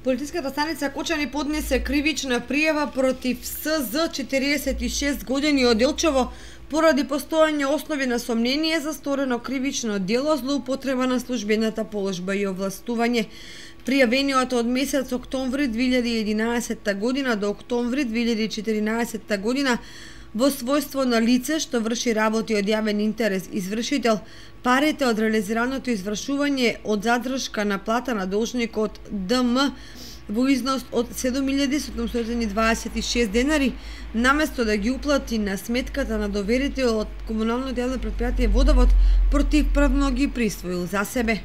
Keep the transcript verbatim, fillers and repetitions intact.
Полициската станица Кочани поднесе кривична пријава против С З четириесет и шест години од Илчево поради постоење основи на сомнение за сторено кривично дело злоупотреба на службената положба и овластување. Пријавениот од месец октомври две илјади и единаесетта година до октомври две илјади и четиринаесетта година во својство на лице што врши работи од јавен интерес извршител, парите од реализираното извршување од задршка на плата на должникот Д М во износ од седум илјади седумстотини дваесет и шест денари, наместо да ги уплати на сметката на доверител од комуналното јавно претпријатие Водовод, противправно ги присвоил за себе.